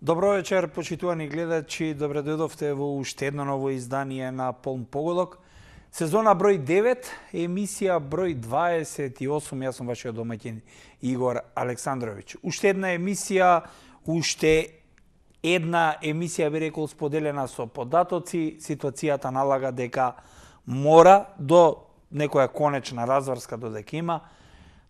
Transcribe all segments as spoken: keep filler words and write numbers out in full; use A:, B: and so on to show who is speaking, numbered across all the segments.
A: Добро вечер, почитувани гледачи. Добре дојдовте во уште едно ново издание на Полн погодок. Сезона број девет, емисија број дваесет и осум. Јас сум вашиот домаќин Игор Александрович. Уште една емисија, уште една емисија би рекол споделена со податоци. Ситуацијата налага дека мора до некоја конечна разврска додека има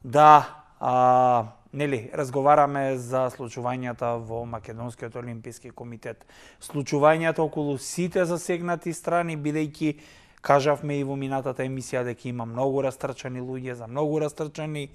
A: да а, нели, разговараме за случувањата во Македонскиот олимписки комитет. Случувањата околу сите засегнати страни, бидејќи кажавме и во минатата емисија дека има многу растрчани луѓе, за многу растрчани,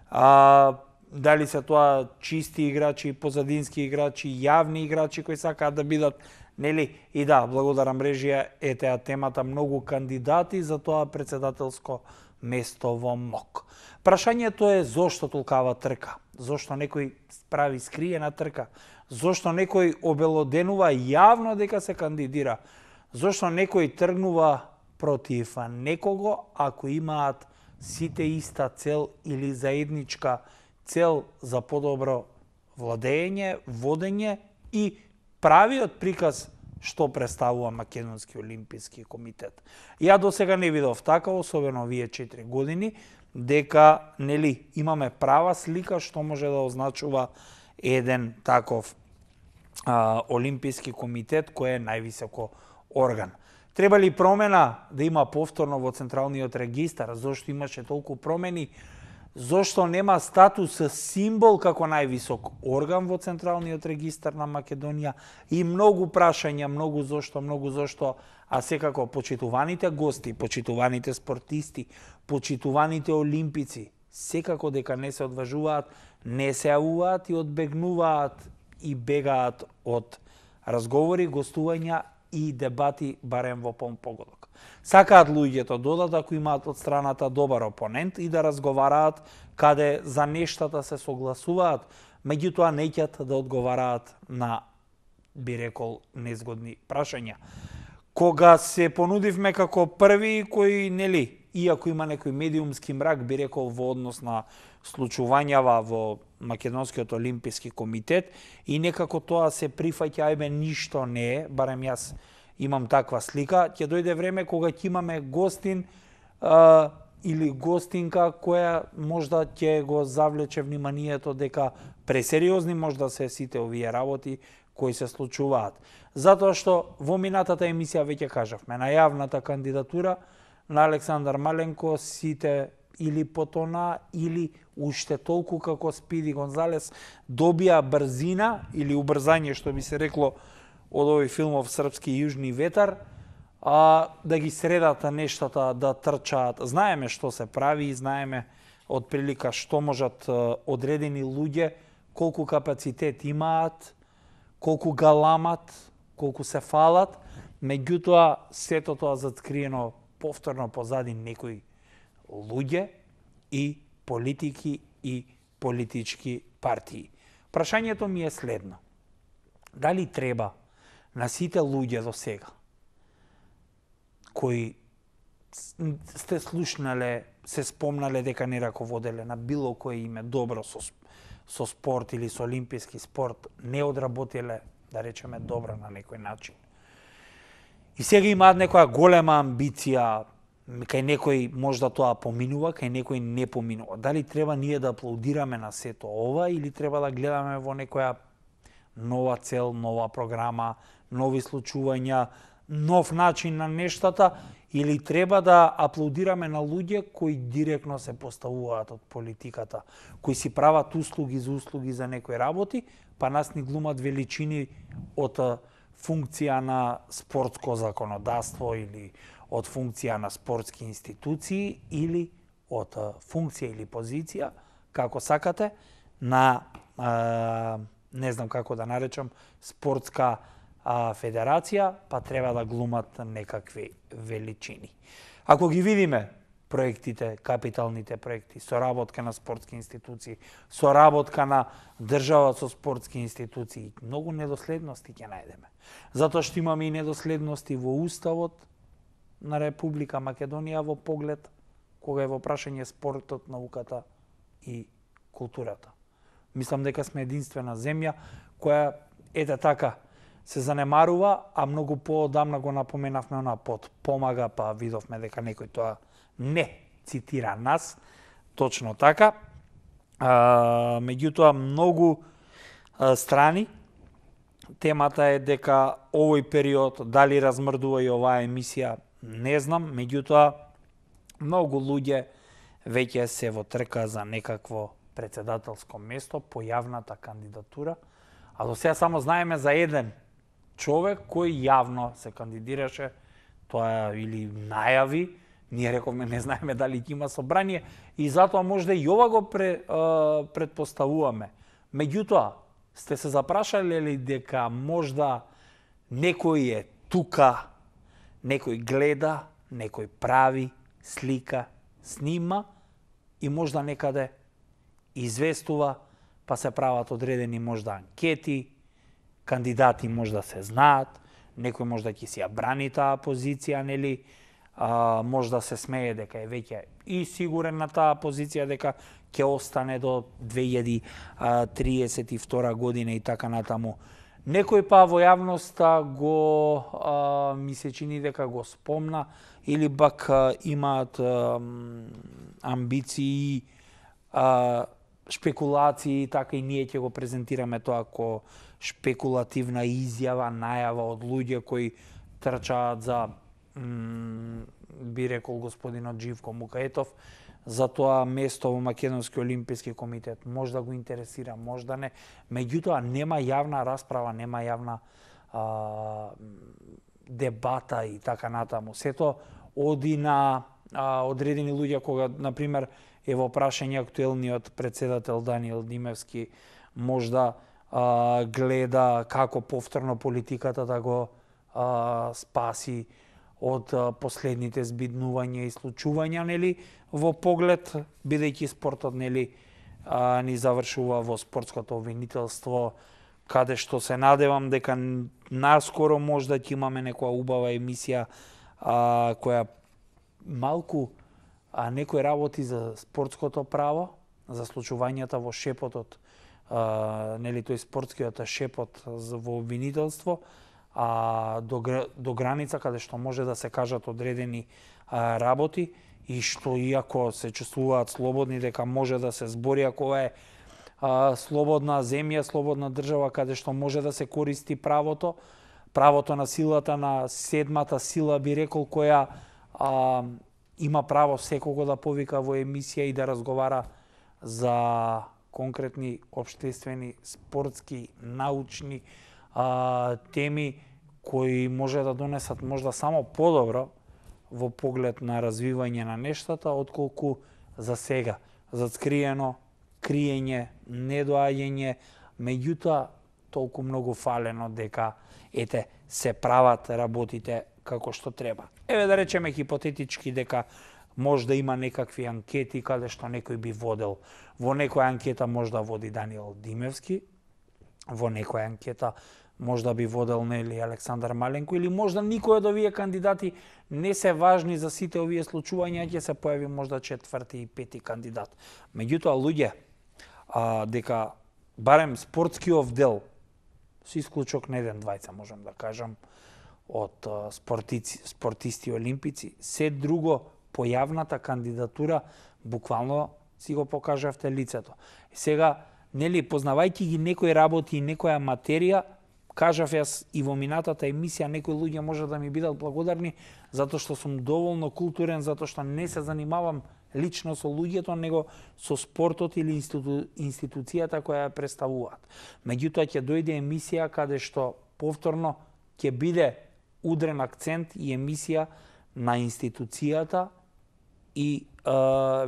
A: а, дали се тоа чисти играчи, позадински играчи, јавни играчи кои сакаат да бидат, нели, и да, благодарам мрежија, е теа темата, многу кандидати за тоа председателско место во МОК. Прашањето е зошто толкава трка? Зошто некој прави скриена трка? Зошто некој обелоденува јавно дека се кандидира? Зошто некој тргнува против некого ако имаат сите иста цел или заедничка цел за подобро владење, водење и правиот приказ што представува Македонски олимписки комитет. Ја до сега не видов така, особено овие четири години, дека нели имаме права слика што може да означува еден таков а, олимписки комитет кој е највисоко орган. Треба ли промена да има повторно во Централниот регистар? Зошто имаше толку промени? Зошто нема статус символ како највисок орган во Централниот регистар на Македонија? И многу прашања, многу зошто, многу зошто, а секако почитуваните гости, почитуваните спортисти, почитуваните олимпици, секако дека не се одважуваат, не се јавуваат и одбегнуваат и бегаат од разговори, гостувања и дебати барем во Полн погодок. Сакаат луѓето додат ако имаат од страната добар опонент и да разговараат каде за нештата се согласуваат, меѓутоа неќат да одговараат на, би рекол, незгодни прашања. Кога се понудивме како први кои, нели, иако има некој медиумски мрак, би рекол, во однос на случувањава во Македонскиот олимписки комитет и некако тоа се прифаќа, ајбе, ништо не е, барем јас имам таква слика, ќе дојде време кога ќе имаме гостин а, или гостинка која можда ќе го завлече вниманието дека пресериозни можда се сите овие работи кои се случуваат. Затоа што во минатата емисија веќе кажавме, на јавната кандидатура на Александар Маленко сите или потона, или уште толку како Спиди Гонзалес добија брзина или убрзање, што би се рекло од овој филмов Српски јужни ветар, а, да ги средат нештата, да трчаат. Знаеме што се прави, знаеме од прилика што можат одредени луѓе, колку капацитет имаат, колку галамат, колку се фалат, меѓутоа сето тоа заткриено повторно позади некои луѓе и политики и политички партии. Прашањето ми е следно. Дали треба на сите луѓе до сега кои сте слушнале, се спомнале дека не раководеле на било кое име добро со, со спорт или со олимписки спорт, не одработиле, да речеме, добро на некој начин. И сега имаат некоја голема амбиција, кај некој можда тоа поминува, кај некој не поминува. Дали треба ние да аплаудираме на сето ова или треба да гледаме во некоја нова цел, нова програма, нови случувања, нов начин на нештата, или треба да аплаудираме на луѓе кои директно се поставуваат од политиката, кои си прават услуги за услуги за некои работи, па нас ни глумат величини од функција на спортско законодавство или од функција на спортски институции или од функција или позиција, како сакате, на, а, не знам како да наречам, спортска а, федерација, па треба да глумат некакви величини. Ако ги видиме проектите, капиталните проекти, соработка на спортски институции, соработка на држава со спортски институции, многу недоследности ќе најдеме. Затоа што имаме и недоследности во Уставот на Република Македонија во поглед кога е во прашање спортот, науката и културата. Мислам дека сме единствена земја која ете така, се занемарува, а многу поодамна го напоменавме она под помага, па видовме дека некој тоа не цитира нас, точно така. А, меѓутоа, многу а, страни, темата е дека овој период, дали размрдува и оваа емисија, не знам, меѓутоа, многу луѓе веќе се во трка за некакво председателско место по јавната кандидатура, а до сега само знаеме за еден човек кој јавно се кандидираше, тоа или најави, ние рековме не знаеме дали ќе има собрание и затоа можда и ова го пре, а, предпоставуваме. Меѓутоа, сте се запрашале ли дека можда некој е тука, некој гледа, некој прави, слика, снима и можда некаде известува, па се прават одредени можда анкети, кандидати можда се знаат, некој можда ќе си ја брани таа позиција, нели, а, можда се смее дека е веќе и сигурен на таа позиција дека ќе остане до две илјади триесет и втора година и така натаму. Некој па во јавноста го а, ми се чини дека го спомна или пак а, имаат а, амбиции, а, шпекулации, така и ние ќе го презентираме тоа како шпекулативна изјава, најава од луѓе кои трчаат за, би рекол господинот Живко Мукаетов, за тоа место во Македонски олимписки комитет. Можда го интересира, можда не. Меѓутоа, нема јавна расправа, нема јавна а, дебата и така натаму. Сето оди на а, одредени луѓе кога, например, е во прашање актуелниот председател Даниел Димевски, можда а, гледа како повторно политиката да го а, спаси од а, последните збиднувања и случувања, нели, во поглед, бидејќи спортот, нели, а, ни завршува во спортското обвинителство, каде што се надевам дека наскоро можда ќе имаме некоја убава емисија а, која малку а некој работи за спортското право, за случувањата во шепотот, а, нели, тој спортскиот шепот во обвинителство, а до, до граница каде што може да се кажат одредени а, работи и што иако се чувствуваат слободни дека може да се збори, ако ова е а, слободна земја, слободна држава каде што може да се користи правото, правото на силата на седмата сила, би рекол, која а, има право секого да повика во емисија и да разговара за конкретни општествени, спортски, научни а, теми кои може да донесат можда само подобро во поглед на развивање на нештата, отколку за сега зацкриено, криење, недоаѓање, меѓутоа толку многу фалено дека ете се прават работите како што треба. Еве да речеме хипотетички дека можда има некакви анкети каде што некој би водел. Во некоја анкета можда води Даниел Димевски, во некоја анкета можда би водел, нели, Александар Маленко, или можда никој од овие кандидати не се важни за сите овие случувања, ќе се појави можда четврти и пети кандидат. Меѓутоа, луѓе, а, дека барем спортскиот дел, со исклучок на еден двајца, можам да кажам, од спортици, спортисти олимпици, се друго по јавната кандидатура буквално си го покажавте лицето. И сега, нели, познавајќи ги некои работи и некоја материја, кажав јас и во минатата емисија, некои луѓе може да ми бидат благодарни затоа што сум доволно културен, затоа што не се занимавам лично со луѓето, него со спортот или институ... институцијата која ја представуваат. Меѓутоа ќе дојде емисија каде што повторно ќе биде удрен акцент и емисија на институцијата и е,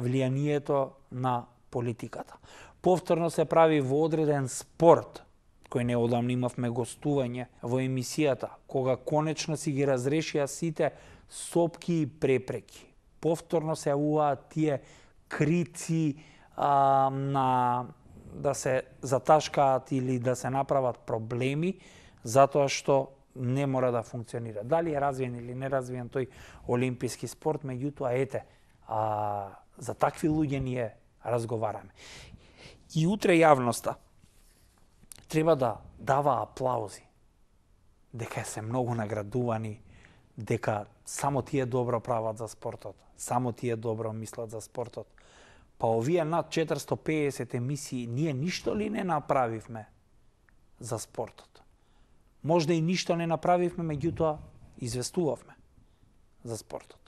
A: влијанието на политиката. Повторно се прави во одреден спорт, кој неодамно имавме гостување во емисијата, кога конечно си ги разрешија сите сопки и препреки. Повторно се јавуваат тие крици а, на да се заташкаат или да се направат проблеми, затоа што не мора да функционира. Дали е развиен или не развиен тој олимписки спорт, меѓутоа ете, а, за такви луѓе ние разговараме. И утре јавноста треба да дава аплаузи, дека се многу наградувани, дека само тие добро прават за спортот, само тие добро мислат за спортот. Па овие над четиристо и педесет емисии, ние ништо ли не направивме за спортот? Можда и ништо не направивме, меѓутоа известувавме за спортот.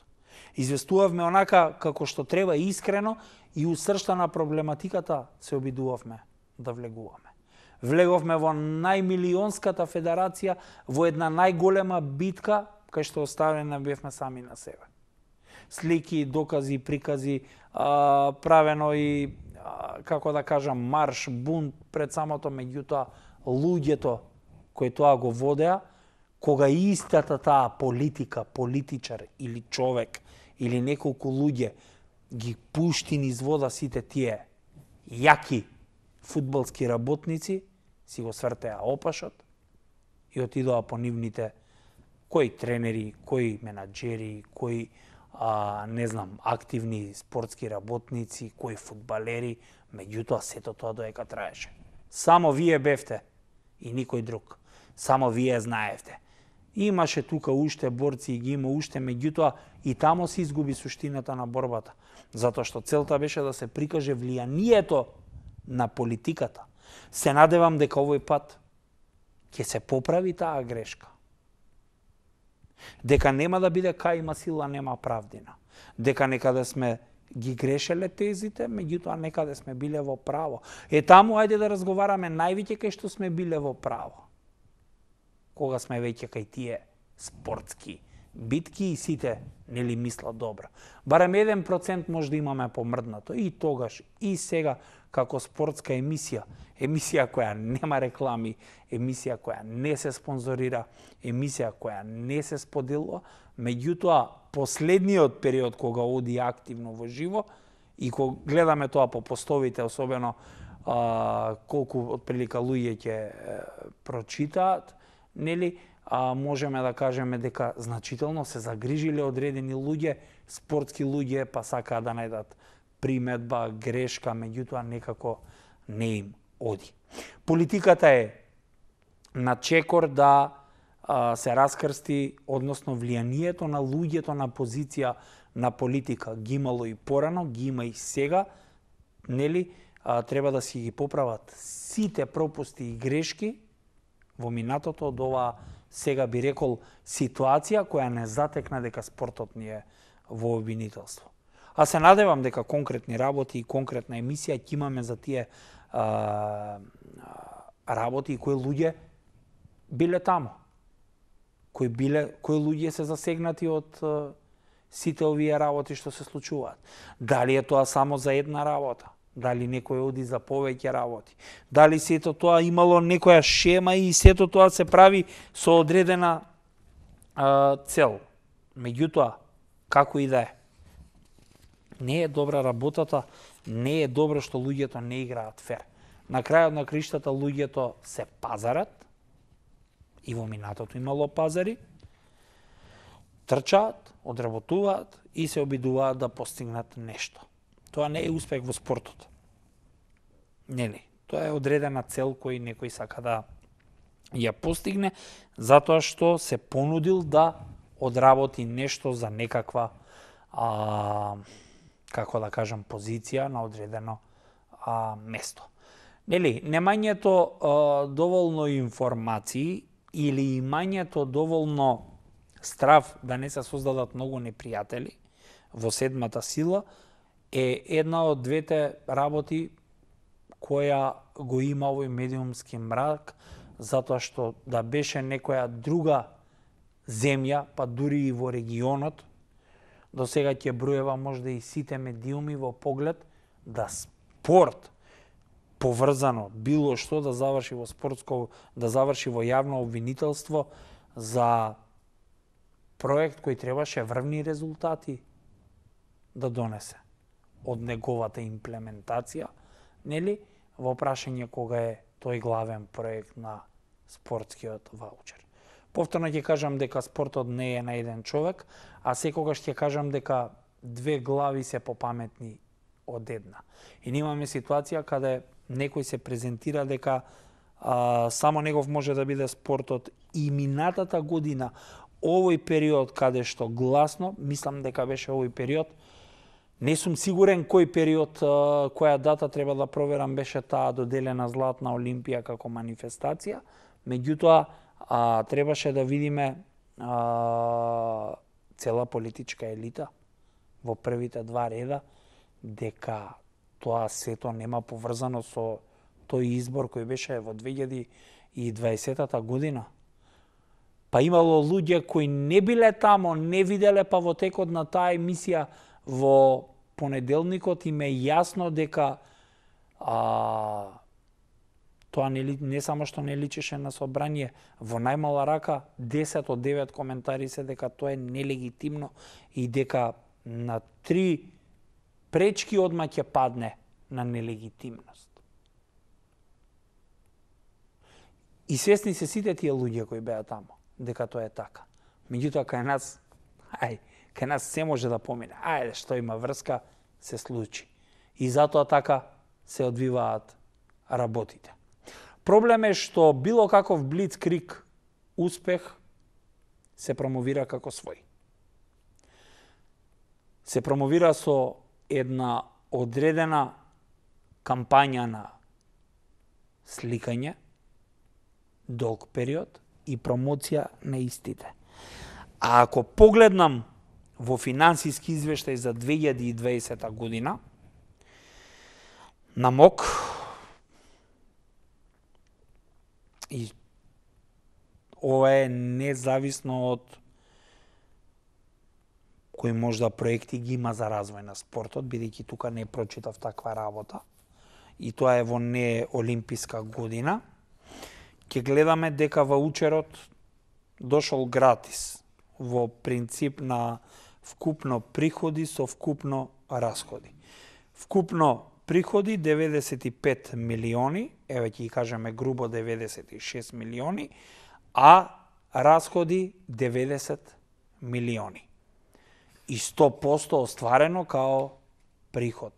A: Известувавме онака како што треба искрено и усршта на проблематиката се обидувавме да влегуваме. Влеговме во најмилионската федерација, во една најголема битка, кај што оставена бевме сами на себе. Слики, докази, прикази, а, правено и, а, како да кажам, марш, бунт пред самото, меѓутоа луѓето кои тоа го водеа, кога истата таа политика, политичар или човек, или неколку луѓе ги пушти низ вода сите тие јаки фудбалски работници, си го свртеа опашот и отидоа по нивните кои тренери, кои менаџери, кои а, не знам, активни спортски работници, кои фудбалери, меѓутоа сето тоа доека траеше. Само вие бевте и никој друг. Само вие знаевте. Имаше тука уште борци и ги има уште, меѓутоа и тамо се изгуби суштината на борбата. Затоа што целта беше да се прикаже влијанието на политиката. Се надевам дека овој пат ќе се поправи таа грешка. Дека нема да биде кај има сила, нема правдина. Дека некаде сме ги грешеле тезите, меѓутоа некаде сме биле во право. Е таму ајде да разговараме највеќе кај што сме биле во право. Кога сме веќе кај тие спортски битки и сите нели мислат добро. Барем еден процент може да имаме помрднато и тогаш и сега како спортска емисија, емисија која нема реклами, емисија која не се спонзорира, емисија која не се споделува, меѓутоа последниот период кога оди активно во живо и кога гледаме тоа по постовите, особено а, колку отприлика луѓе ќе прочитаат, нели, а, можеме да кажеме дека значително се загрижиле одредени луѓе, спортски луѓе, па сакаат да најдат приметба, грешка, меѓутоа некако не им оди. Политиката е на чекор да а, се раскрсти, односно влијанието на луѓето на позиција на политика. Ги имало и порано, ги има и сега, нели, а, треба да си ги поправат сите пропусти и грешки во минатото од оваа, сега би рекол, ситуација која не затекна дека спортот ни е во обвинителство. А се надевам дека конкретни работи и конкретна емисија ќе имаме за тие а, работи и кои луѓе биле таму. Кои биле, кои луѓе се засегнати од а, сите овие работи што се случуваат. Дали е тоа само за една работа? Дали некој оди за повеќе работи? Дали сето тоа имало некоја шема и сето тоа се прави со одредена а, цел? Меѓутоа, како и да е, не е добра работата, не е добро што луѓето не играат фер. На крајот на криштата луѓето се пазарат, и во минатото имало пазари, трчаат, одработуваат и се обидуваат да постигнат нешто. Тоа не е успех во спортот. Нели? Тоа е одредена цел кој некој сака да ја постигне, затоа што се понудил да одработи нешто за некаква а, како да кажам, позиција на одредено а, место. Нели, немањето а, доволно информации или имањето доволно страв да не се создадат многу непријатели во седмата сила е една од двете работи која го има овој медиумски мрак, затоа што да беше некоја друга земја, па дури и во регионот, до сега ќе броева можда и сите медиуми во поглед да спорт поврзано било што да заврши во спортско, да заврши во јавно обвинителство за проект кој требаше врвни резултати да донесе од неговата имплементација, нели, во прашање кога е тој главен проект на спортскиот ваучер. Повторно ќе кажам дека спортот не е на еден човек, а секогаш ќе кажам дека две глави се попаметни од една. И имаме ситуација каде некој се презентира дека а, само негов може да биде спортот. И минатата година, овој период каде што гласно, мислам дека беше овој период, не сум сигурен кој период, која дата треба да проверам, беше таа доделена Златна Олимпија како манифестација, меѓутоа а, требаше да видиме а, цела политичка елита во првите два реда, дека тоа сето нема поврзано со тој избор кој беше во две илјади и дваесетата година. Па имало луѓе кои не биле тамо, не виделе, па во текот на таа емисија во понеделникот им е јасно дека а, тоа не, не само што не личеше на собрание, во најмала рака десет од девет коментари се дека тоа е нелегитимно и дека на три пречки одма ќе падне на нелегитимност. И свесни се сите тие луѓе кои беа тамо, дека тоа е така. Меѓутоа, кај нас, ај, кај нас се може да помине. Ајде, што има врска, се случи. И затоа така се одвиваат работите. Проблем е што било каков блицкриг успех се промовира како свој. Се промовира со една одредена кампања на сликање, долг период и промоција на истите. А ако погледнам во финансиски извештај за две илјади и дваесета година, на МОК, и ова е независно од кои можда проекти ги има за развој на спортот, бидејќи тука не прочитав таква работа, и тоа е во не олимписка година, ќе гледаме дека ваучерот дошол гратис во принцип на вкупно приходи со вкупно расходи. Вкупно приходи деветдесет и пет милиони, еве ќе ги кажеме грубо деветдесет и шест милиони, а расходи деветдесет милиони. И сто посто остварено као приход,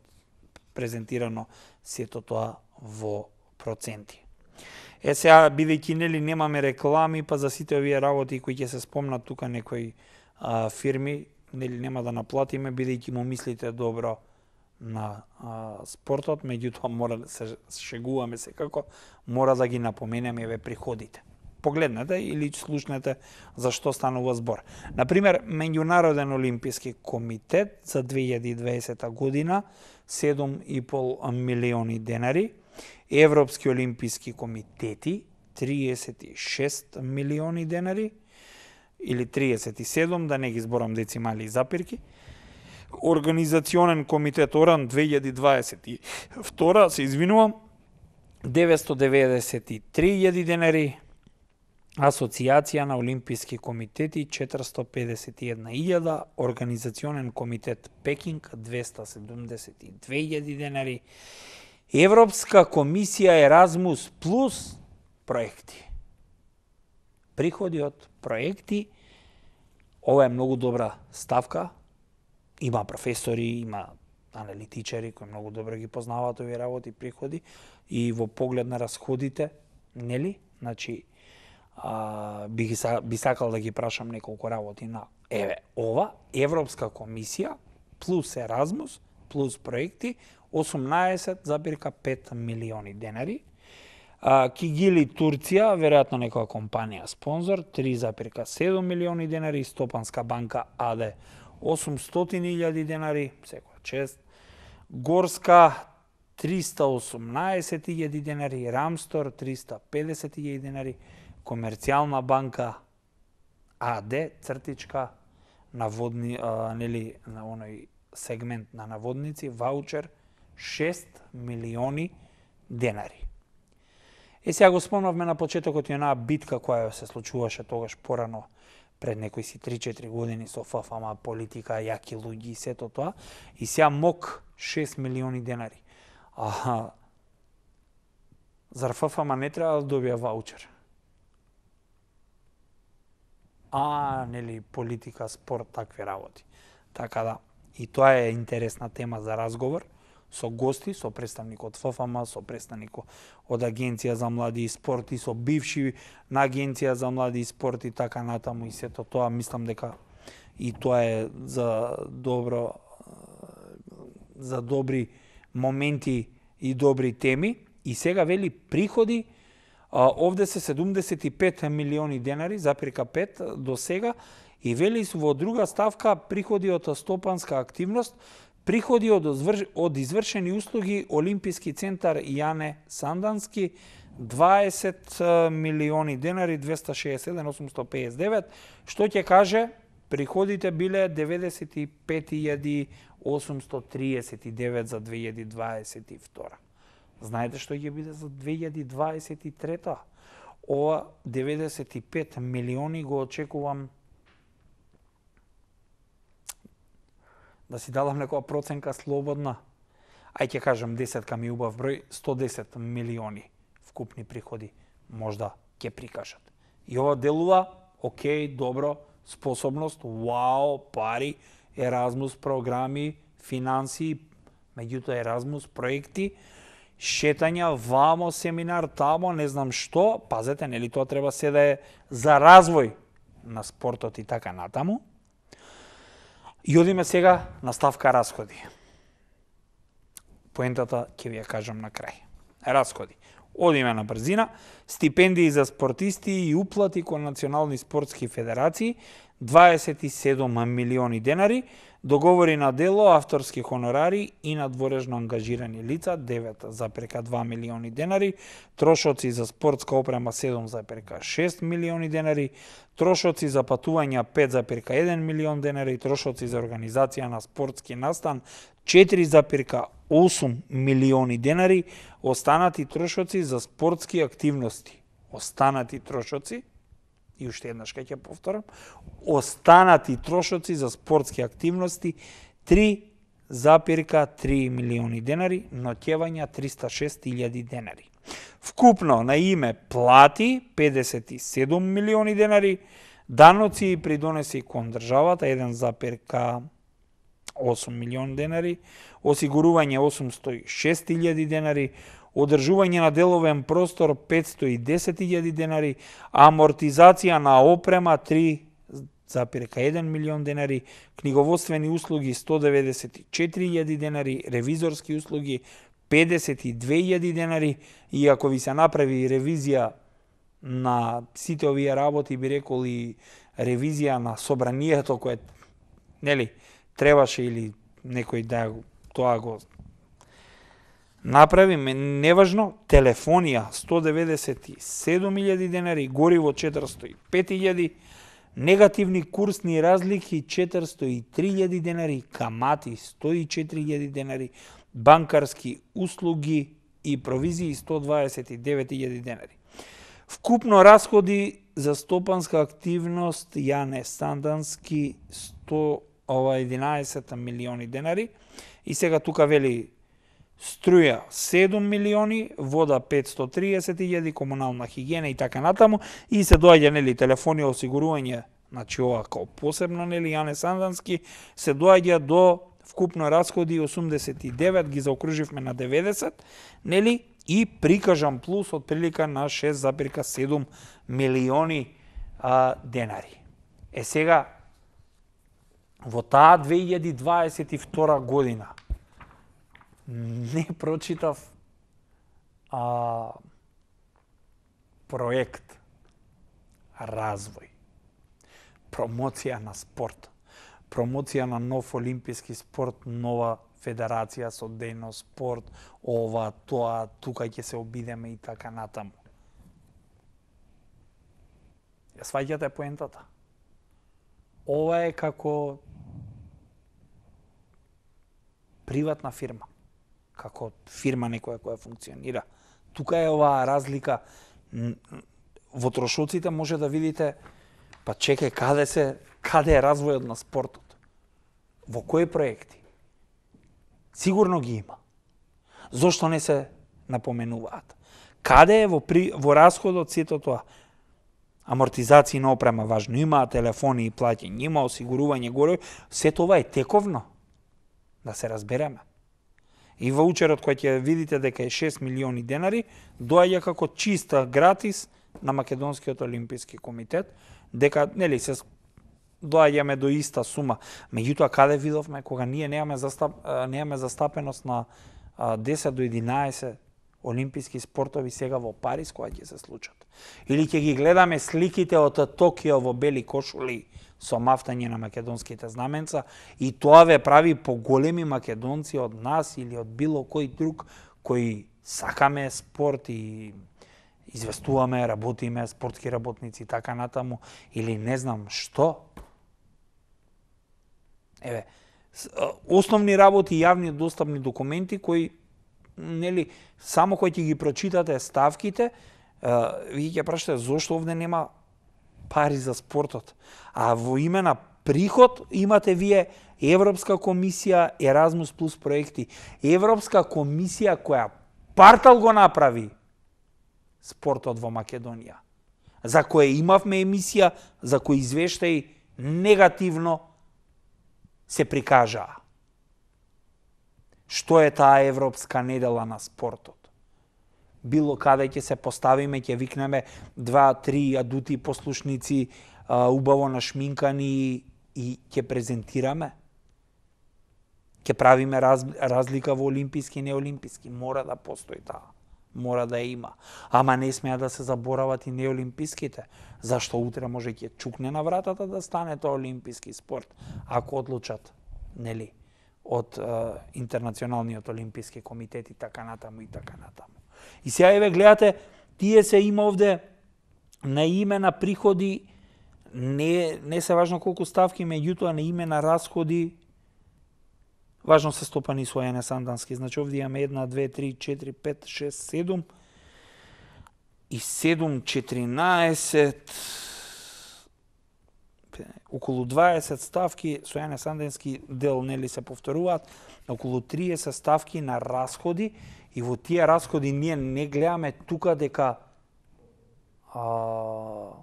A: презентирано сето тоа во проценти. Е сега, бидејќи нели немаме реклами, па за сите овие работи кои ќе се спомнат тука некои а, фирми, нели нема да наплатиме, бидејќи му мислите добро на а, спортот, меѓутоа мора да се шегуваме секако, мора да ги напоменеме еве приходите. Погледнете или слушнете за што станува збор. Например, Меѓународен олимписки комитет за две илјади и дваесета година седум и пол милиони денари, Европски олимписки комитети триесет и шест милиони денари или триесет и седум, да не ги зборам децимали и запирки. Организационен комитет ОРАН две илјади дваесет и втора, се извинувам, деветстотини деведесет и три илјади денари, Асоцијација на олимписки комитети четиристотини педесет и една илјада, Организационен комитет Пекинг двеста седумдесет и две илјади денари, Европска комисија Еразмус плюс проекти. Приходи од проекти, ова е многу добра ставка, има професори, има аналитичари кои многу добро ги познаваат овие работи, приходи, и во поглед на расходите, нели? Значи, а, би, ги, би сакал да ги прашам неколку работи на еве ова, Европска комисија плюс Еразмус плюс проекти, осумнаесет зарез пет милиони денари. А, Кигили Турција, веројатно некоја компанија спонзор, три зарез седум милиони денари, Стопанска банка АД осумстотини илјади денари, секоја чест. Горска триста и осумнаесет илјади денари, Рамстор триста и педесет илјади денари, Комерцијална банка АД цртичка наводни, а, нели на оној сегмент на наводници, ваучер шест милиони денари. Е сега го спомнавме на почетокот и онаа битка која се случуваше тогаш порано пред некои си три-четири години со ФФМ, политика, јаки луѓи и сето тоа. И сега МОК шест милиони денари. А зар ФФМ не треба да добија ваучер? А, нели, политика, спорт, такви работи. Така да, и тоа е интересна тема за разговор, со гости, со представник од Ф Ф М, со представник од Агенција за млади и спорт и со бивши на Агенција за млади и спорт и така натаму и сето тоа, мислам дека и тоа е за добро за добри моменти и добри теми. И сега вели приходи, а, овде се седумдесет и пет милиони денари, запирка пет до сега, и вели во друга ставка приходи од стопанска активност, приходи од, од извршени услуги Олимписки центар Јане Сандански, дваесет милиони денари, двеста шеесет и седам осумстотини пеесет и девет, што ќе каже приходите биле деветдесет и пет илјади осумстотини триесет и девет за две илјади дваесет и втора. Знаете што ќе биде за две илјади дваесет и трета? Ова деветдесет и пет милиони го очекувам да си дадам некоја проценка слободна. Ај ќе кажам десетка ми убав број, сто десет милиони вкупни приходи можда ќе прикажат. И ова делува, окей, добро, способност, вау, пари, Еразмус програми, финанси, меѓутоа Еразмус проекти, шетања, вамо, семинар, тамо, не знам што, пазете, нели тоа треба се да е за развој на спортот и така натаму. И одиме сега на ставка расходи. Поентата ќе ви ја кажам на крај. Расходи. Одиме на брзина. Стипендии за спортисти и уплати кон национални спортски федерации, дваесет и седум милиони денари, договори на дело, авторски хонорари и надворежно ангажирани лица, девет запирка два милиони денари, трошоци за спортска опрема седум запирка шест милиони денари, трошоци за патувања пет запирка еден милион денари, трошоци за организација на спортски настан четири запирка осум милиони денари, останати трошоци за спортски активности. Останати трошоци, и уште еднаш ќе ќе повторам, останати трошоци за спортски активности три запирка три милиони денари, ноќевања триста и шест илјади денари. Вкупно на име плати педесет и седум милиони денари, даноци и придонеси кон државата еден запирка осум милиони денари, осигурување осумстотини и шест илјади денари, одржување на деловен простор петстотини и десет илјади денари, амортизација на опрема три запирка еден милион денари, книговодствени услуги сто деветдесет и четири илјади денари, ревизорски услуги педесет и две илјади денари, и ако ви се направи ревизија на сите овие работи, би рекол и ревизија на собранието кое, нели, требаше или некој да тоа го направиме, неважно, телефонија сто деветдесет и седум илјади денари, гориво четиристотини и пет илјади, негативни курсни разлики четиристотини и три илјади денари, камати сто и четири илјади денари, банкарски услуги и провизии сто дваесет и девет илјади денари. Вкупно расходи за стопанска активност Јане Сандански сто единаесет милиони денари, и сега тука вели струја седум милиони, вода петстотини и триесет илјади, комунална хигиена и така натаму, и се доаѓа, нели, телефони, осигурување, значи ова као посебно, нели, Јане Сандански, се доаѓа до вкупно расходи осумдесет и девет, ги заокруживме на деветдесет, нели, и прикажан плюс од прилика на шест запирка седум милиони а, денари. Е сега, во таа две илјади дваесет и втора година не прочитав а, проект развој, промоција на спорт, промоција на нов олимписки спорт, нова федерација со дејност спорт, ова, тоа, тука ќе се обидеме и така натаму. Ја сваќате поентата? Ова е како приватна фирма, како фирма некоја која функционира. Тука е оваа разлика. Во трошоците може да видите, па чекај, каде се, каде е развојот на спортот? Во кои проекти? Сигурно ги има. Зошто не се напоменуваат? Каде е во, при, во расходот сето тоа? Амортизација на опрема важно, има телефони и плаќање, има осигурување горе, сето ова е тековно. Да се разбереме. И ваучерот кој ќе видите дека е шест милиони денари, доаѓа како чиста гратис на Македонскиот олимписки комитет, дека нели се доаѓаме до иста сума. Меѓутоа каде видовме кога ние немаме застап, немаме застапеност на десет до единаесет олимписки спортови сега во Париз кои ќе се случат. Или ќе ги гледаме сликите од Токио во бели кошули со мафтање на македонските знаменца и тоа ве прави поголеми македонци од нас или од било кој друг кои сакаме спорт и известуваме, работиме, спортски работници и така натаму, или не знам што. Еве, основни работи, јавни достапни документи кои нели само кои ќе ги прочитате ставките, вие ќе прашате зошто овде нема пари за спортот. А во име на приход имате вие Европска комисија, Еразмус плюс проекти. Европска комисија која партал го направи спортот во Македонија, за која имавме емисија, за кој извештаи негативно се прикажаа. Што е таа Европска недела на спортот? Било каде ќе се поставиме, ќе викнеме два, три адути послушници, убаво нашминкани и ќе презентираме? Ќе правиме раз, разлика во олимписки и неолимписки? Мора да постои таа. Мора да има. Ама не смеа да се заборават и неолимписките. Зашто утре може ќе чукне на вратата да стане тоа олимписки спорт, ако одлучат, нели, од е, Интернационалниот олимписки комитет и така натаму и така натаму. И сега еве гледате, тие се има овде на име на приходи, не, не се важно колку ставки, меѓутоа на име на расходи, важно се стопани својане сандански. Значи овде имаме една, две, три, четири, пет, шест, седум и седум, четиринаесет, околу дваесет ставки, сојане сандански дел нели се повторуваат, околу триесет ставки на расходи и во тие расходи ние не гледаме тука дека а,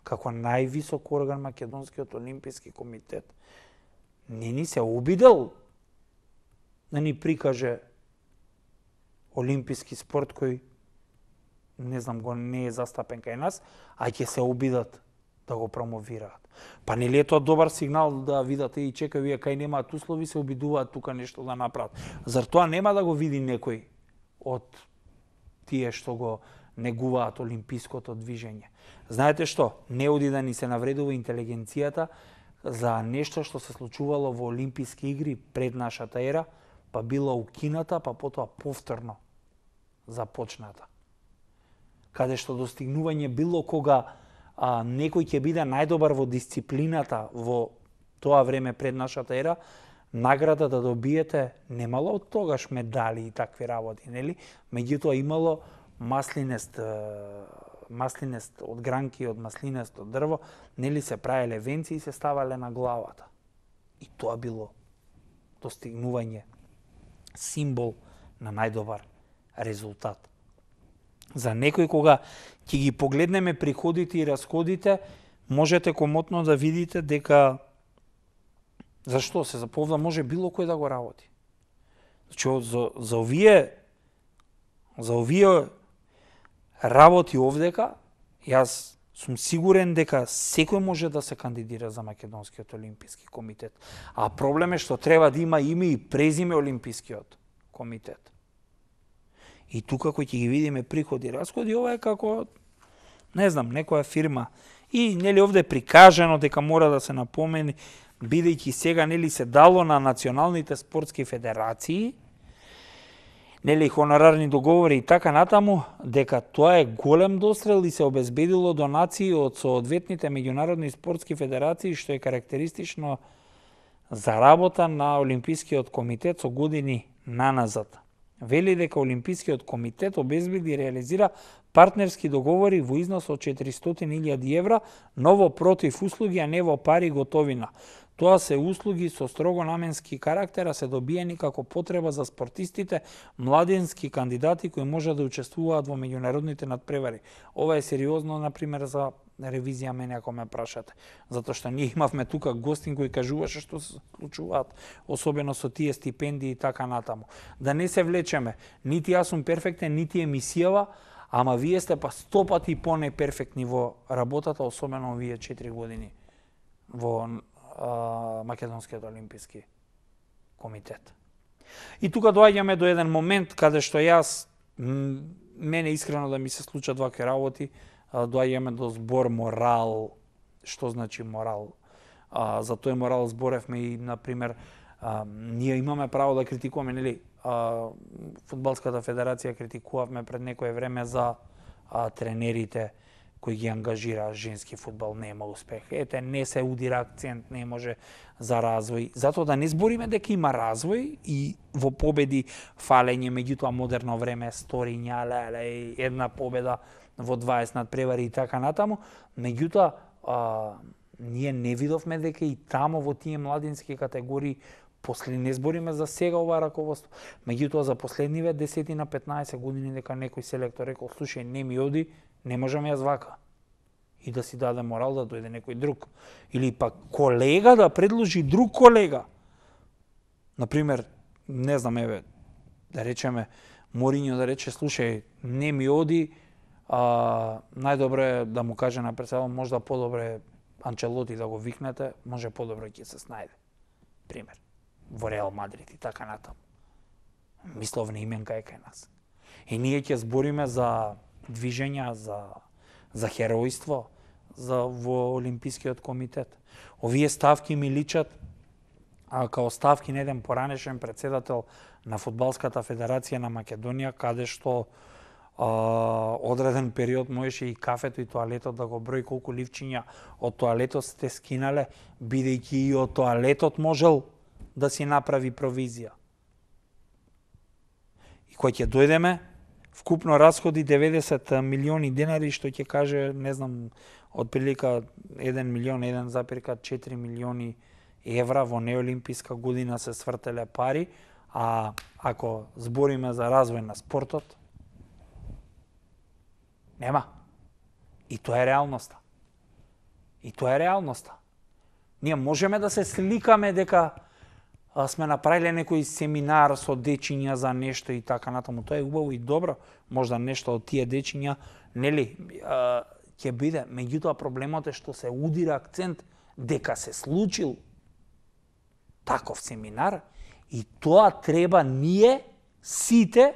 A: како највисок орган Македонскиот олимписки комитет не ни се обидел да ни прикаже олимписки спорт кој не знам го не е застапен кај нас, а ќе се обидат да го промовираат. Па нели е тоа добар сигнал да видате и чека вие кај немаат услови се обидуваат тука нешто да направат. Зар тоа нема да го види некој од тие што го негуваат олимпиското движење? Знаете што? Не оди да ни се навредува интелигенцијата за нешто што се случувало во олимписки игри пред нашата ера, па била укината, па потоа повторно започната. Каде што достигнување било кога а, некој ќе биде најдобар во дисциплината во тоа време пред нашата ера, награда да добиете немало од тогаш медали и такви работи, нели? Меѓутоа имало маслинест, маслинест од гранки, од маслинест од дрво, нели се правеле венци и се ставале на главата. И тоа било достигнување, символ на најдобар резултат. За некој кога ќе ги погледнеме приходите и расходите, можете комотно да видите дека зашто се заповда може било кој да го работи. Значи за, за овие за овие работи овдека, јас сум сигурен дека секој може да се кандидира за Македонскиот олимписки комитет. А проблем е што треба да има име и презиме олимпискиот комитет. И тука кој ќе ги видиме приходи и расходи, ова е како, не знам, некоја фирма. И нели овде прикажано дека мора да се напомени, бидејќи сега нели се дало на националните спортски федерации, нели хонорарни договори и така натаму, дека тоа е голем дострел и се обезбедило донации од соодветните меѓународни спортски федерации, што е карактеристично за работа на Олимпискиот комитет со години наназад. Вели дека Олимпискиот комитет обезбеди и реализира партнерски договори во износ од четиристотини илјади евра, но во против услуги, а не во пари готовина. Тоа се услуги со строго наменски карактер, а се добиени како потреба за спортистите, младенски кандидати кои можат да учествуваат во меѓународните надпревари. Ова е сериозно, например, за ревизија мене ако ме прашате. Затоа што ние имавме тука гостин кој кажуваше што се случуваат, особено со тие стипендии и така натаму. Да не се влечеме, нити јас сум перфектен, нити емисијава, ама вие сте па сто пати по-неперфектни во работата, особено овие четири години во а, Македонскиот олимписки комитет. И тука доаѓаме до еден момент каде што јас, мене искрено да ми се случат вакви работи, доаѓаме до збор морал. Што значи морал? А, за тој морал зборевме и, например, а, ние имаме право да критикуваме, нели? А, Фудбалската федерација критикувавме пред некое време за а, тренерите кои ги ангажира женски фудбал, нема успех. Ете, не се удира акцент, не може за развој. Затоа да не збориме дека има развој и во победи фалење, меѓутоа модерно време, сториња, леле, една победа во дваесет надпревари и така натаму. Меѓутоа, а, ние не видовме дека и тамо во тие младински категории, после не збориме за сега ова раководство, меѓутоа за последниве десет на петнаесет години дека некој селектор рекол, слушај, не ми оди, не можам јас вака. И да си даде морал да дојде некој друг. Или пак колега да предложи друг колега. Например, не знам, еве, да речеме, Моринјо да рече, слушај, не ми оди, а, најдобро е да му каже на председател, можда подобре Анчелоти да го викнете, може подобро ќе се снајде. Пример. Во Реал Мадрид и така натаму. Мисловна именка е кај нас. И ние ќе збориме за движења, за, за херојство, за во Олимпискиот комитет. Овие ставки ми личат а, као ставки на еден поранешен председател на Фудбалската федерација на Македонија, каде што а, одреден период можеше и кафето и тоалетот да го брои колку ливчиња од тоалетот сте скинале, бидејќи и од тоалетот можел да си направи провизија. И кој ќе дојдеме, вкупно расходи деветдесет милиони денари, што ќе каже, не знам, од прилика еден милион, еден запирка четири милиони евра во неолимписка година се свртеле пари, а ако збориме за развој на спортот, нема. И тоа е реалноста. И тоа е реалноста. Ние можеме да се сликаме дека сме направиле некој семинар со дечиња за нешто и така натаму. Тоа е убаво и добро. Можда нешто од тие дечиња, нели, ќе биде. Меѓутоа проблемот е што се удира акцент дека се случил таков семинар и тоа треба ние сите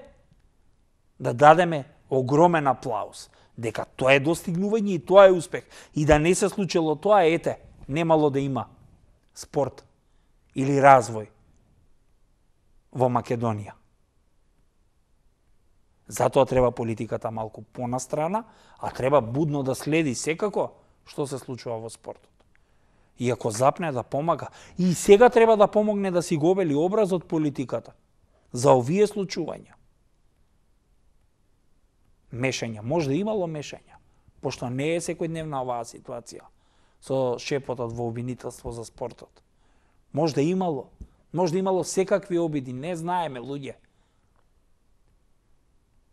A: да дадеме огромен аплауз. Дека тоа е достигнување и тоа е успех. И да не се случило тоа, ете, немало да има спорт или развој во Македонија. Затоа треба политиката малку понастрана, а треба будно да следи секако што се случува во спортот. И ако запне да помага, и сега треба да помогне да си го обели образот политиката за овие случувања. Мешања, може да имало мешања, пошто не е секојдневна оваа ситуација со шепотот во обвинителство за спортот. Може да имало, може да имало секакви обиди, не знаеме, луѓе.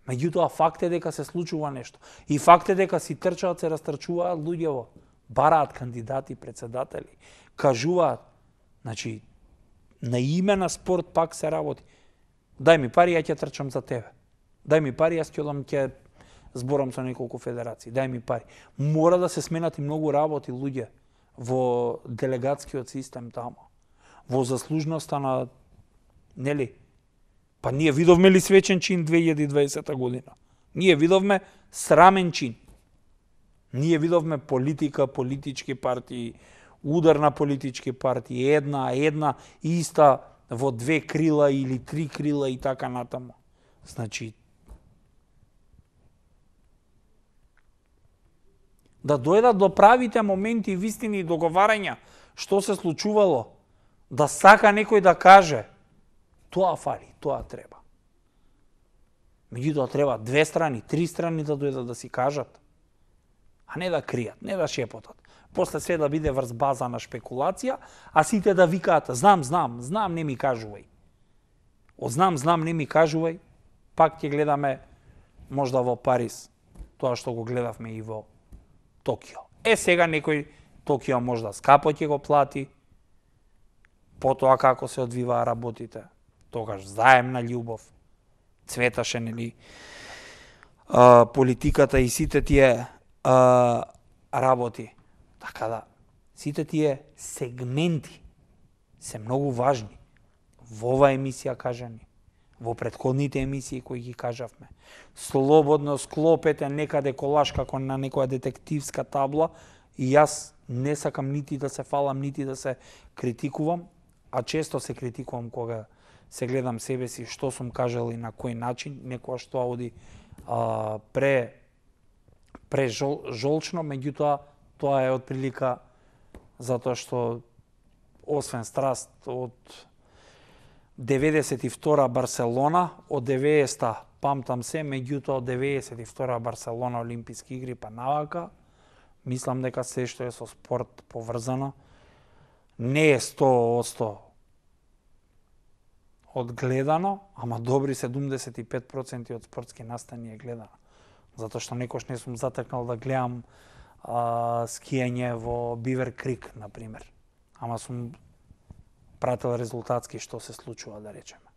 A: Меѓутоа, факт е дека се случува нешто. И факт е дека си трчаат, се растрчуваат луѓево, бараат кандидати, председатели, кажуваат, значи, на име на спорт пак се работи. Дај ми пари, ја ќе трчам за тебе. Дај ми пари, јас ќе одам, ќе зборам со неколку федерации. Дај ми пари. Мора да се сменат и многу работи, луѓе, во делегатскиот систем тамо. Во заслужноста на, нели, па ние видовме ли свечен чин две илјади и дваесета година? Ние видовме срамен чин. Ние видовме политика, политички партии, удар на политички партии, една, една, иста во две крила или три крила и така натаму. Значи, да дојдат до правите моменти, вистини и договарања, што се случувало, да сака некој да каже, тоа фали, тоа треба. Меѓутоа треба две страни, три страни да дојдат да си кажат, а не да кријат, не да шепотат. После се да биде врз база на шпекулација, а сите да викаат, знам, знам, знам, не ми кажувај. Од знам, знам, не ми кажувај, пак ќе гледаме можда во Париз, тоа што го гледавме и во Токио. Е, сега некој Токио можда скапо ќе го плати, потоа како се одвиваа работите, тогаш заемна љубов, цветаше, нели, а, политиката и сите тие а, работи. Така да, сите тие сегменти се многу важни. Во ова емисија кажани, во претходните емисии кои ги кажавме. Слободно склопете некаде колаш како на некоја детективска табла и јас не сакам нити да се фалам, нити да се критикувам, а често се критикувам кога се гледам себе си што сум кажал и на кој начин, некоја што оди а, пре пре жол, жолчно, меѓутоа тоа е од прилика затоа што освен страст од деветдесет и втора Барселона, од деветдесета памтам се, меѓутоа од деветдесет и втора Барселона Олимписки игри па навака, мислам дека се што е со спорт поврзано не е сто одсто одгледано, ама добри седумдесет и пет проценти од спортски настани е гледано. Затоа што некош не сум затекнал да гледам а, скијање во Бивер Крик, например. Ама сум пратил резултатски што се случува, да речеме.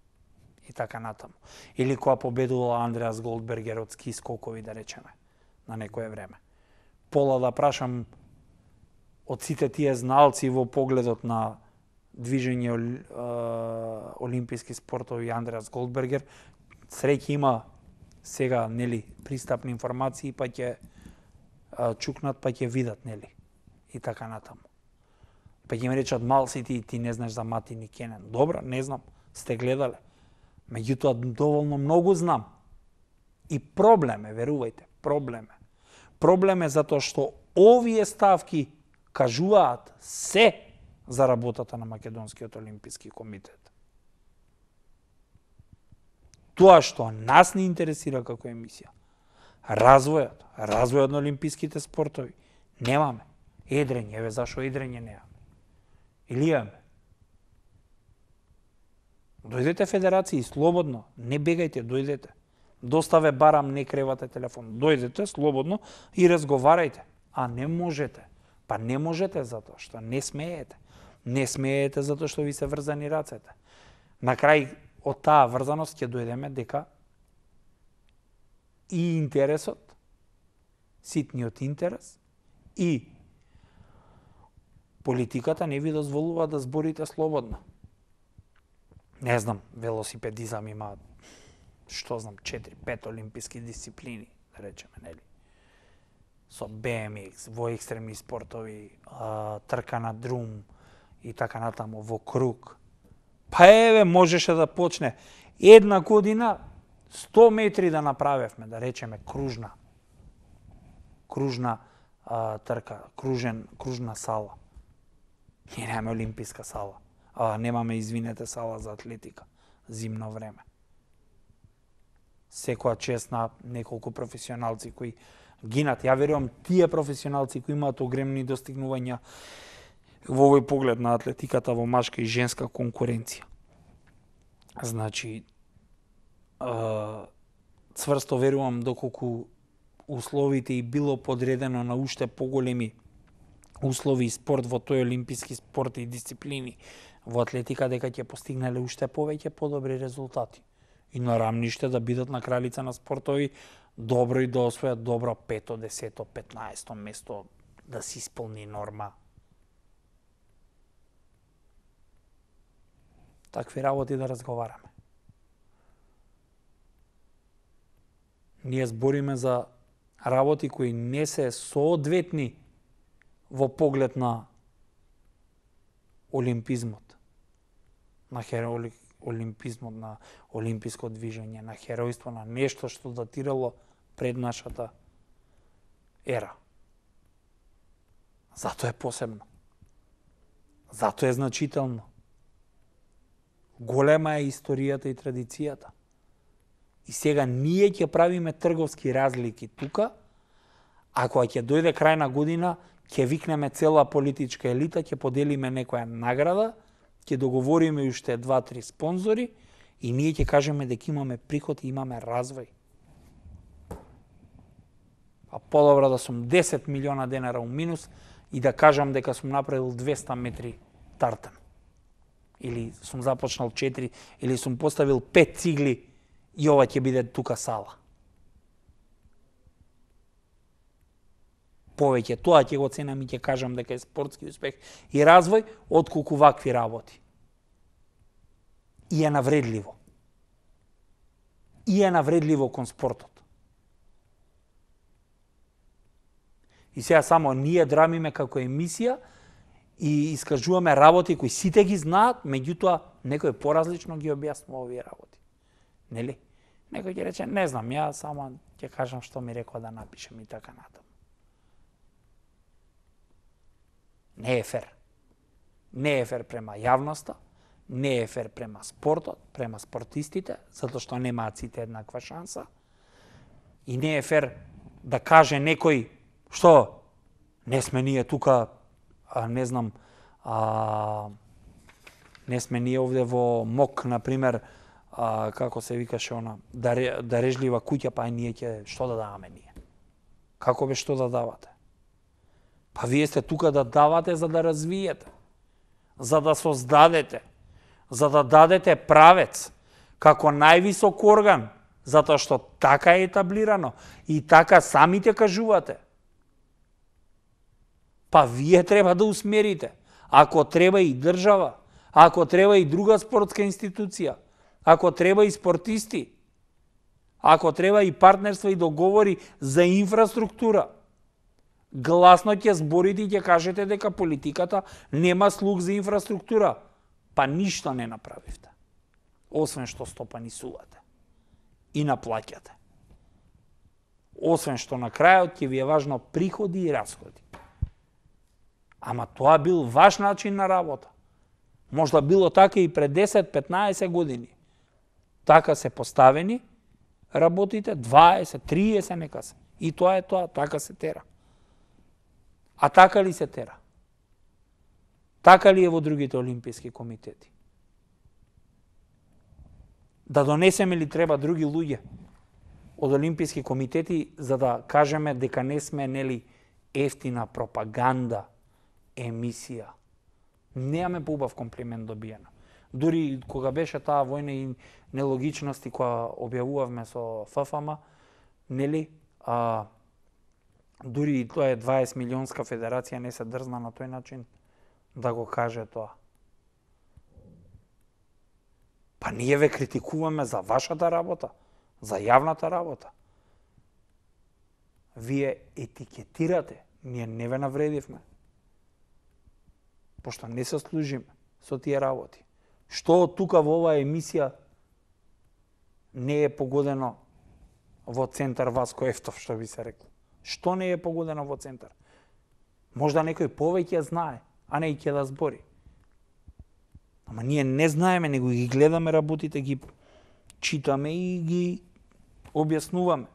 A: И така натаму. Или кога победувала Андреас Голдбергер од ски скокови, да речеме, на некое време. Пола да прашам од сите тие зналци во погледот на движење олимписки спортови Андреас Голдбергер, среќа има сега, нели, пристапни информации, па ќе чукнат, па ќе видат, нели, и така натаму. Па ќе ми речат, мал си ти, ти не знаеш за Мати Никенен. Добро, не знам, сте гледале. Меѓутоа, доволно многу знам. И проблем е, верувајте, проблем е. Проблем е затоа што овие ставки кажуваат се за работата на Македонскиот олимписки комитет. Тоа што нас не интересира како емисија, развојот, развојот на олимписките спортови, немаме. Едрење, еве зашо едрење немаме. Или имаме. Дојдете федерации, слободно, не бегајте, дојдете. Доставе барам, не кревате телефон. Дојдете слободно и разговарајте. А не можете. Па не можете затоа што не смеете. Не смеете затоа што ви се врзани рацете. На крај од таа врзаност ќе дојдеме дека и интересот, ситниот интерес и политиката не ви дозволува да зборите слободно. Не знам, велосипедизам има, што знам, четири-пет олимписки дисциплини, да речеме, нели? Со Б М Икс, во екстремни спортови, а, трка на друм и така натаму, во круг. Па еве, можеше да почне една година сто метри да направевме, да речеме, кружна. Кружна а, трка, кружен, кружна сала. Ние немаме олимписка сала. А, немаме, извинете, сала за атлетика. Зимно време. Секоја чест на неколку професионалци кои гинат. Ја верувам, тие професионалци кои имаат огромни достигнувања во овој поглед на атлетиката во машка и женска конкуренција. Значи, цврсто верувам доколку условите и било подредено на уште поголеми услови и спорт во тој олимписки спорт и дисциплини во атлетика, дека ќе постигнале уште повеќе подобри резултати. И на рамниште да бидат на кралица на спортови добро и да освојат добро пето, десето, петнаесто место, да се исполни норма. Такви работи да разговараме. Ние збориме за работи кои не се соодветни во поглед на олимпизмот, на херои, олимпизмот, на олимписко движење, на херојство, на нешто што датирало пред нашата ера. Зато е посебно. Зато е значително. Голема е историјата и традицијата. И сега ние ќе правиме трговски разлики тука, а кога ќе дојде крајна година, ќе викнеме цела политичка елита, ќе поделиме некоја награда, ќе договориме уште два-три спонзори и ние ќе кажеме дека имаме приход и имаме развој. А подобро да сум десет милиона денара у минус и да кажам дека сум направил двеста метри тартан. Или сум започнал четири, или сум поставил пет цигли и ова ќе биде тука сала. Повеќе тоа ќе го ценам и ќе кажам дека е спортски успех и развој отколку вакви работи. И е навредливо. И е навредливо кон спортот. И сега само ние драмиме како емисија и искажуваме работи кои сите ги знаат, меѓутоа некој поразлично ги објаснува овие работи. Нели? Некој ќе рече, не знам, ја само ќе кажам што ми рекоа да напишем и така натаму. Не е фер. Не е фер према јавноста, не е фер према спортот, према спортистите, затоа што немаат сите еднаква шанса. И не е фер да каже некој што не сме ние тука, а, не знам, а, не сме ние овде во МОК, например, а, како се викаше она, дарежлива куќа, па ние ќе што да даваме ние? Како бе што да давате? Па вие сте тука да давате за да развиете, за да создадете, за да дадете правец како највисок орган, затоа што така е етаблирано и така самите кажувате. Па вие треба да усмерите. Ако треба и држава, ако треба и друга спортска институција, ако треба и спортисти, ако треба и партнерство и договори за инфраструктура, гласно ќе зборите и ќе кажете дека политиката нема слух за инфраструктура. Па ништо не направивте. Освен што стопанисувате и наплаќате. Освен што на крајот ќе ви е важно приходи и расходи. Ама тоа бил ваш начин на работа. Можда било така и пред десет-петнаесет години. Така се поставени работите, дваесет, триесет нека се. И тоа е тоа, така се тера. А така ли се тера? Така ли е во другите олимписки комитети? Да донесеме ли треба други луѓе од олимписки комитети за да кажеме дека не сме нели ефтина пропаганда, емисија? Немаме поубав комплимент добиена. Дури кога беше таа војна и нелогичности која објавувавме со ФФМ, нели, а, дури тоа е дваесет милионска федерација, не се дрзна на тој начин да го каже тоа. Па ние ве критикуваме за вашата работа, за јавната работа. Вие етикетирате, ние не ве навредивме. Пошто не се служиме со тие работи. Што од тука во оваа емисија не е погодено во центар Васко Ефтов, што би се рекло? Што не е погодено во центар? Можда некој повеќе знае, а не и ќе да збори. Ама ние не знаеме, него ги гледаме работите, ги читаме и ги објаснуваме.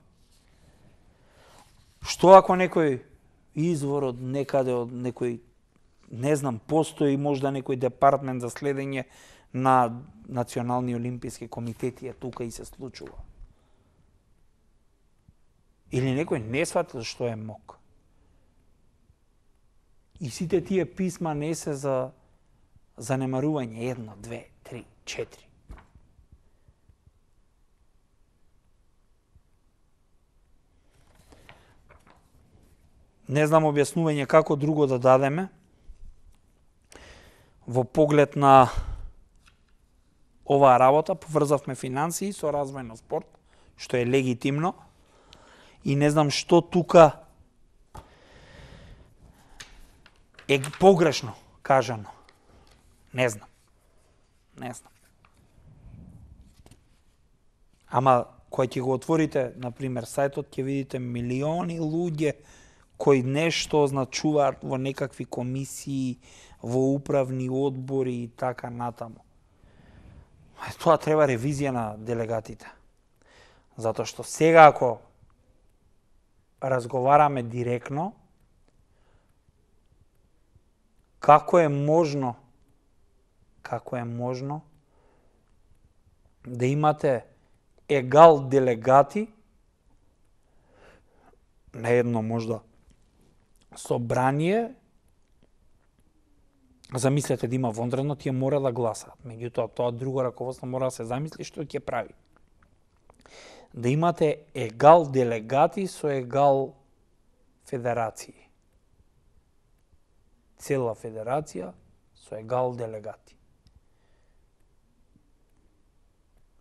A: Што ако некој извор од некаде, од некој, не знам, постои можда некој департмент за следење на национални олимписки комитети е тука и се случува? Или некој не сватил што е МОК? И сите тие писма не се за занемарување, едно, две, три, четири. Не знам објаснување како друго да дадеме во поглед на оваа работа. Поврзавме финансии со развој на спорт, што е легитимно, и не знам што тука е погрешно кажано. Не знам. Не знам. Ама кој ќе го отворите, например, сајтот, ќе видите милиони луѓе кои нешто означуваат во некакви комисии, во управни одбори и така натаму. Тоа треба ревизија на делегатите. Затоа што сега ако разговараме директно, како е можно, како е можно да имате егал делегати на едно можда собрание, замислете да има вонредно, тие мора да гласаат. Меѓутоа, тоа друго раководство мора да се замисли што ќе прави. Да имате егал делегати со егал федерации. Цела федерација со егал делегати.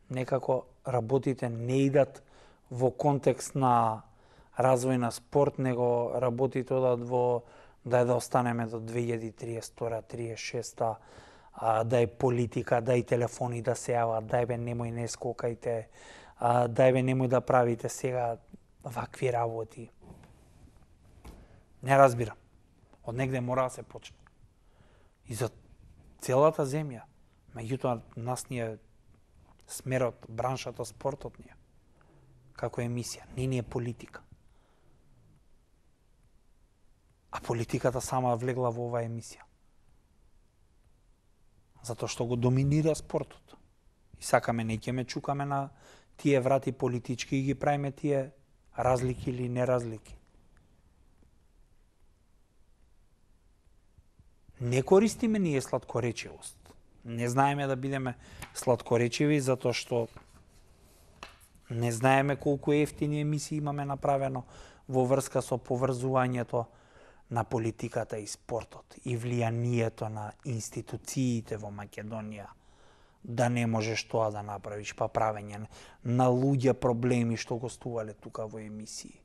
A: Некако работите не идат во контекст на развој на спорт, него работите одат во да да останеме до две илјади и триесета, триесет и шеста, а, да е политика, да и телефони да се јават, дај бе немој не скокајте, а, дај бе немој да правите сега вакви работи. Не разбирам. Од негде мора да се почне. И за целата земја. Меѓутоа, нас ни е смерот, браншата, спортот ни е. Како емисија. Не ни е политика. А политиката сама влегла во оваа емисија. Затоа што го доминира спортот. И сакаме, не ќе ме чукаме на тие врати политички и ги правиме тие разлики или неразлики. Не користиме ние сладкоречивост. Не знаеме да бидеме сладкоречиви, затоа што не знаеме колку ефтини емисии имаме направено во врска со поврзувањето на политиката и спортот и влијанието на институциите во Македонија, да не можеш тоа да направиш, па правење на луѓе проблеми што гостувале тука во емисии.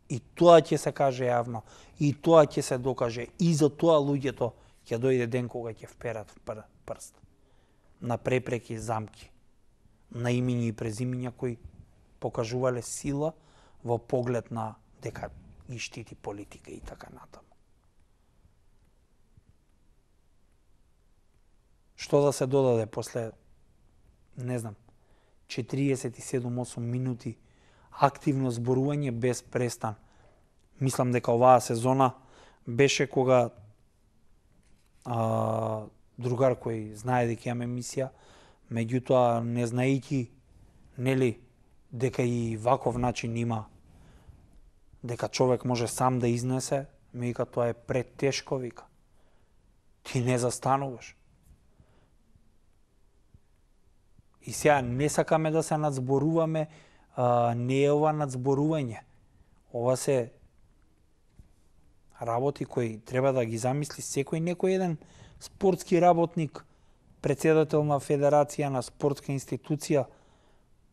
A: И тоа ќе се каже јавно, и тоа ќе се докаже, и за тоа луѓето ќе дојде ден кога ќе вперат в пр прст на препреки, замки, на имиња и презимиња кои покажувале сила во поглед на дека ги штити политика и така натаму. Што да се додаде после, не знам, четириесет и седум осум минути активно зборување без престан. Мислам дека оваа сезона беше кога а, другар кој знае дека имаме емисија, меѓутоа не знаејќи нели дека и ваков начин има, дека човек може сам да изнесе, ми вика тоа е претешко, вика. Ти не застануваш. И сега не сакаме да се надзборуваме, а, не е ова надзборување. Ова се работи кои треба да ги замисли секој некој еден спортски работник, председател на федерација, на спортска институција,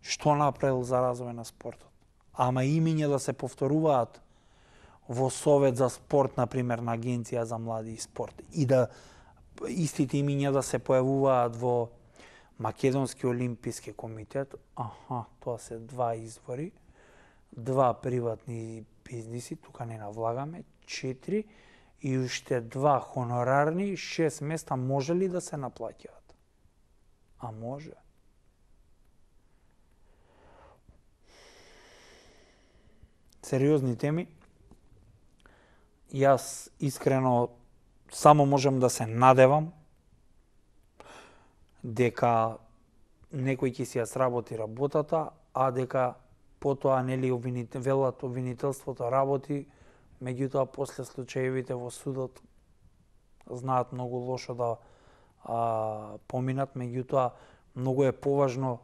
A: што направил за развој на спортот. Ама имиња да се повторуваат во Совет за спорт, например, на Агенција за млади и спорт. И да истите имиња да се појавуваат во Македонски олимписки комитет. Аха, тоа се два извори, два приватни бизниси, тука не навлагаме, четири, и уште два хонорарни, шест места може ли да се наплаќаат? А може. Сериозни теми. Јас искрено само можам да се надевам дека некој ќе си ја сработи работата, а дека потоа нели обвинител, велат обвинителството работи, меѓутоа после случаевите во судот знаат многу лошо да а, поминат, меѓутоа многу е поважно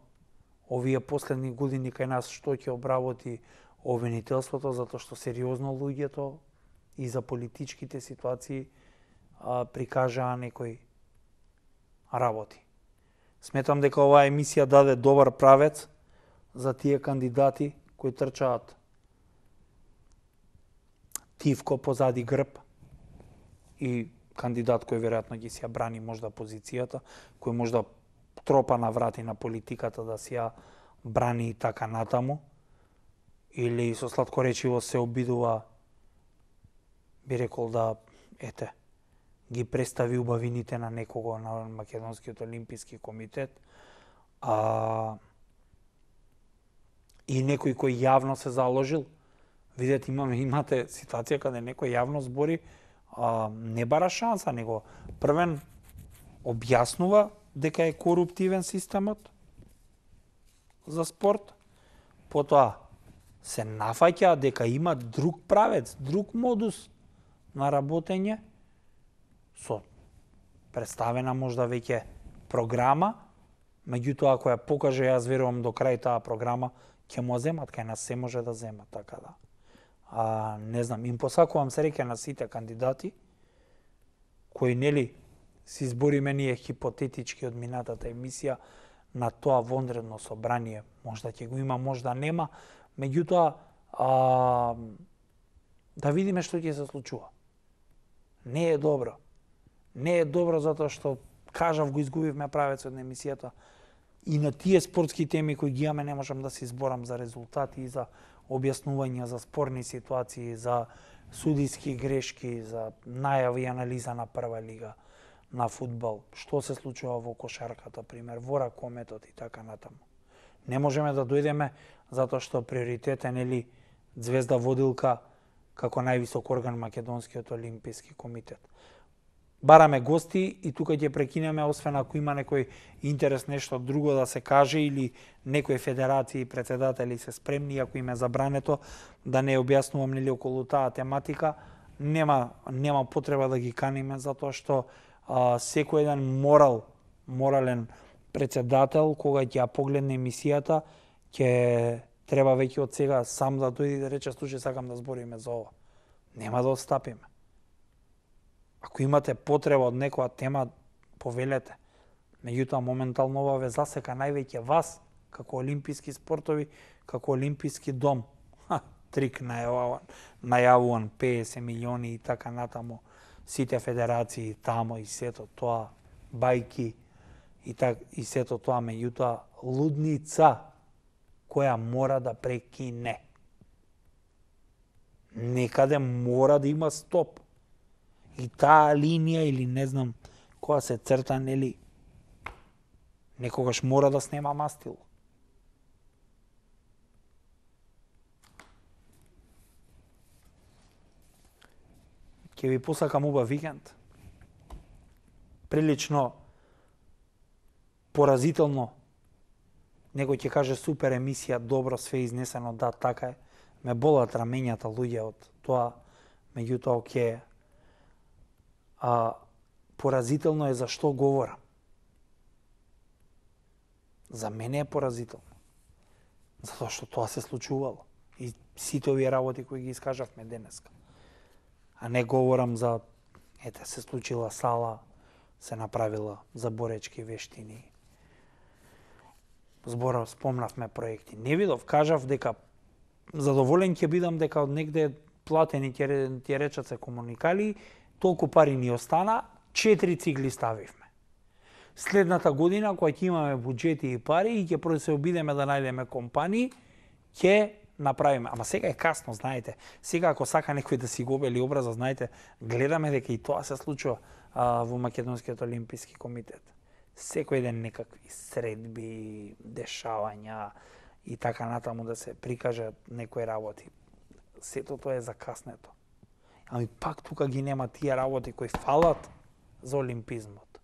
A: овие последни години кај нас што ќе обработи обвинителството, затоа што сериозно луѓето и за политичките ситуации а, прикажаа некои работи. Сметам дека оваа емисија даде добар правец за тие кандидати кои трчаат тивко позади грб и кандидат кој веројатно ги си ја брани можда позицијата, кој можда тропа на врати на политиката да си ја брани и така натаму, или со сладкоречиво се обидува, би рекол да, ете, ги представи убавините на некого на Македонскиот олимписки комитет, а и некој кој јавно се заложил. Видете, имаме, имате ситуација каде некој јавно збори, а, не бара шанса, него првен објаснува дека е коруптивен системот за спорт, потоа се нафаќа дека има друг правец, друг модус на работење, со представена можда веќе програма, меѓутоа ако ја покаже, јас верувам до крај таа програма, ќе му земат, кај нас се може да земат, така да. А, не знам, им посакувам среќа на сите кандидати, кои, нели, си избориме ние хипотетички од минатата емисија на тоа вонредно собрание. Можда ќе го има, можда нема, меѓутоа, а, да видиме што ќе се случува. Не е добро. Не е добро затоа што, кажав, го изгубивме правецот на емисијата. И на тие спортски теми кои ги имаме не можам да се изборам за резултати и за објаснувања за спорни ситуации, за судиски грешки, за најави и анализа на прва лига на фудбал, што се случува во кошарката, пример, во ракометот и така натаму. Не можеме да дојдеме затоа што приоритет е, нели, звезда водилка како највисок орган Македонскиот олимписки комитет. Бараме гости и тука ќе прекинеме, освен ако има некој интерес нешто друго да се каже или некои федерации и председатели се спремни, ако им е забрането, да не објаснувам, нели, околу таа тематика, нема нема потреба да ги каниме, затоа што а, секој еден морал, морален председател, кога ќе ја погледне емисијата, ќе треба веќе од сега сам да дојде и да рече: слушај, сакам да збориме за ова. Нема да отстапиме. Ако имате потреба од некоја тема, повелете. Меѓутоа, моментално ова ве засека највеќе вас, како олимписки спортови, како олимписки дом. Ха, трик најавуван, најавуван педесет милиони и така натаму, сите федерации тамо и сето тоа, бајки и, так, и сето тоа, меѓутоа, лудница која мора да прекине. Некаде мора да има стоп. И таа линија, или не знам, која се црта, нели, некогаш мора да снема мастило. Ќе ви посакам убав викенд. Прилично поразително. Некој ќе каже: супер емисија, добро, све изнесено, да, така е. Ме болат рамењата, луѓе, од тоа, меѓутоа, ќе а поразително е за што говорам. За мене е поразително. Затоа што тоа се случувало. И сите овие работи кои ги искажавме денеска. А не говорам за, ете, се случила сала, се направила за боречки вештини. Збора, спомнавме проекти. Не видов, кажав дека задоволен ќе бидам дека од негде платени ќе речат се комуникали, толку пари ни остана, четири цигли ставивме. Следната година, кога ќе имаме буџети и пари и ќе се обидеме да најдеме компании, ќе направиме. Ама сега е касно, знаете. Сега ако сака некој да си го обели образа, знаете, гледаме дека и тоа се случува а, во Македонскиот олимписки комитет. Секој ден некакви средби, дешавања и така натаму да се прикажат некои работи. Сето тоа е закаснето. Ами пак тука ги нема тие работи кои фалат за олимпизмот.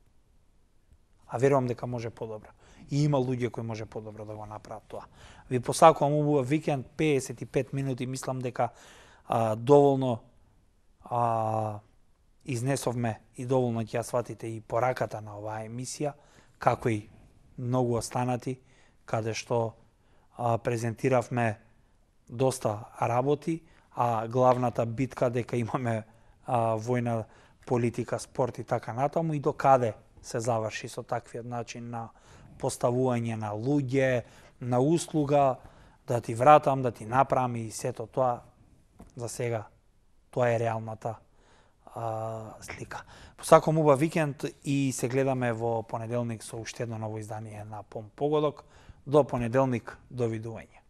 A: А верувам дека може подобро. И има луѓе кои може подобро да го направат тоа. Ви посакувам убав викенд, педесет и пет минути, мислам дека а, доволно а, изнесовме и доволно ќе ја сватите и пораката на оваа емисија, како и многу останати, каде што а, презентиравме доста работи, а главната битка дека имаме а, војна, политика, спорт и така натаму, и до каде се заврши со таквиот начин на поставување на луѓе, на услуга, да ти вратам, да ти направам и сето тоа. За сега тоа е реалната а, слика. Посакувам убав викенд и се гледаме во понеделник со уште едно ново издание на Пом Погодок. До понеделник, довидување.